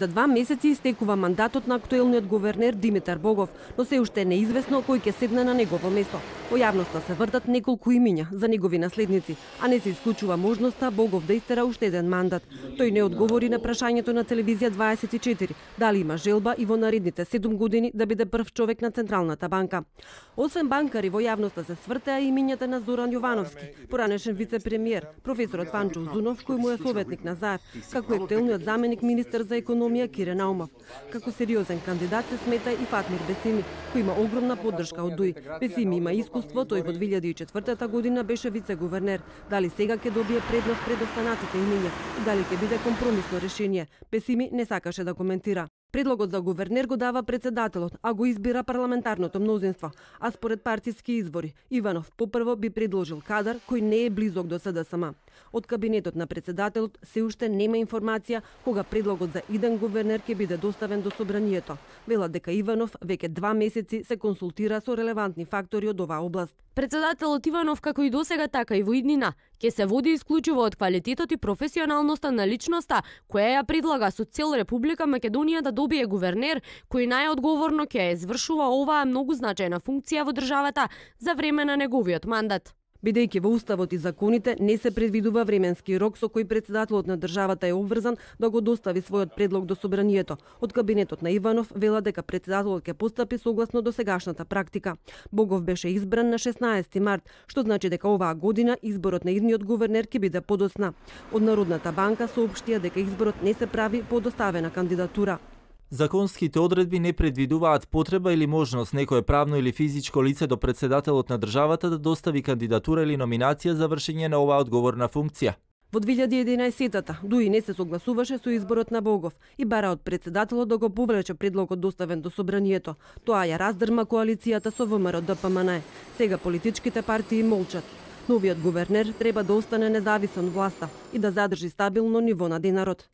За 2 месеци истекува мандатот на актуелниот гувернер Димитар Богов, но се уште не е известно кој ќе седне на негово место. Во јавноста се вртат неколку имиња за негови наследници, а не се исклучува можноста Богов да истера уште еден мандат. Тој не одговори на прашањето на телевизија 24 дали има желба и во наредните 7 години да биде прв човек на Централната банка. Освен банкари, во јавноста се свртеа имињата на Зоран Јовановски, поранешен вице-премиер, професорот Ванчо Узунов, кој му е советник на Заев, како актуелниот заменик министер за економија Кире Наумов. Како сериозен кандидат се смета и Фатмир Бесими, кој има огромна поддршка од ДУИ. Бесими има искуство, тој во 2004 година беше вице-гувернер. Дали сега ќе добие предност пред останатите имиња и дали ќе биде компромисно решение, Бесими не сакаше да коментира. Предлогот за гувернер го дава председателот, а го избира парламентарното мнозинство, а според партиски извори, Иванов попрво би предложил кадар кој не е близок до СДСМ. Од кабинетот на председателот се уште нема информација кога предлогот за иден гувернер ќе биде доставен до собранието. Велат дека Иванов веќе 2 месеци се консултира со релевантни фактори од оваа област. Председателот Иванов, како и досега, така и во иднина, ќе се води исклучиво од квалитетот и професионалноста на личноста, која ја предлага со цел Република Македонија да добие гувернер, кој најодговорно ќе ја извршува оваа многу значајна функција во државата за време на неговиот мандат. Бидејќи во уставот и законите не се предвидува временски рок со кој председателот на државата е обврзан да го достави својот предлог до собранието. Од кабинетот на Иванов вела дека председателот ќе постапи согласно досегашната практика. Богов беше избран на 16 март, што значи дека оваа година изборот на идниот гувернер ќе биде подоцна. Од Народната банка соопштија дека изборот не се прави по доставена кандидатура. Законските одредби не предвидуваат потреба или можност некое правно или физичко лице до председателот на државата да достави кандидатура или номинација за вршење на оваа одговорна функција. Во 2011-та ДУИ не се согласуваше со изборот на Богов и бара од председателот да го повлече предлогот доставен до собранието. Тоа ја раздрма коалицијата со ВМРО ДПМН. Сега политичките партии молчат. Новиот гувернер треба да остане независен власта и да задржи стабилно ниво на денарот.